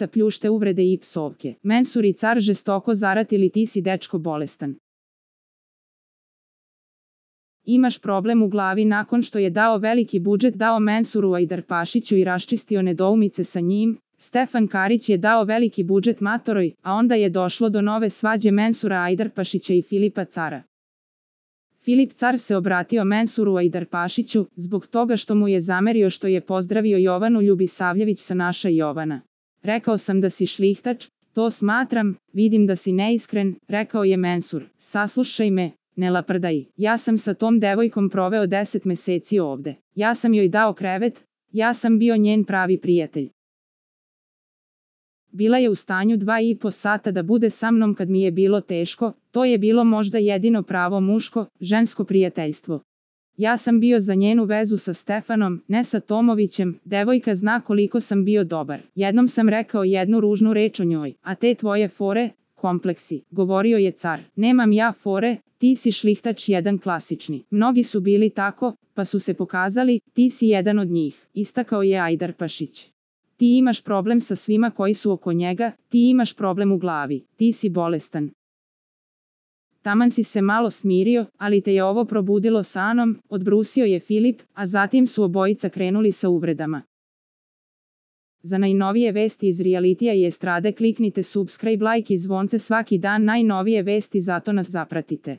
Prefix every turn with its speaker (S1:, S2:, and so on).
S1: lica pljušte uvrede i psovke. Mensur i car žestoko zaratili, ti si dečko bolestan. Imaš problem u glavi. Nakon što je dao veliki budžet dao Mensuru Ajdarpašiću i raščistio nedoumice sa njim, Stefan Karić je dao veliki budžet matoroj, a onda je došlo do nove svađe Mensura Ajdarpašića i Filipa Cara. Filip Car se obratio Mensuru Ajdarpašiću, zbog toga što mu je zamerio što je pozdravio Jovanu Ljubisavljević sa naša Jovana. Rekao sam da si šlihtač, to smatram, vidim da si neiskren, rekao je Mensur. Saslušaj me, ne laprdaj, ja sam sa tom devojkom proveo 10 meseci ovde. Ja sam joj dao krevet, ja sam bio njen pravi prijatelj. Bila je u stanju 2,5 sata da bude sa mnom kad mi je bilo teško, to je bilo možda jedino pravo muško, žensko prijateljstvo. Ja sam bio za njenu vezu sa Stefanom, ne sa Tomovićem, devojka zna koliko sam bio dobar. Jednom sam rekao jednu ružnu reč o njoj, a te tvoje fore, kompleksi, govorio je car. Nemam ja fore, ti si šlihtač jedan klasični. Mnogi su bili tako, pa su se pokazali, ti si jedan od njih, istakao je Ajdarpašić. Ti imaš problem sa svima koji su oko njega, ti imaš problem u glavi, ti si bolestan. Taman si se malo smirio, ali te je ovo probudilo sanom, odbrusio je Filip, a zatim su obojica krenuli sa uvredama. Za najnovije vesti iz realitija i estrade kliknite subscribe, like i zvonce svaki dan, najnovije vesti, zato nas zapratite.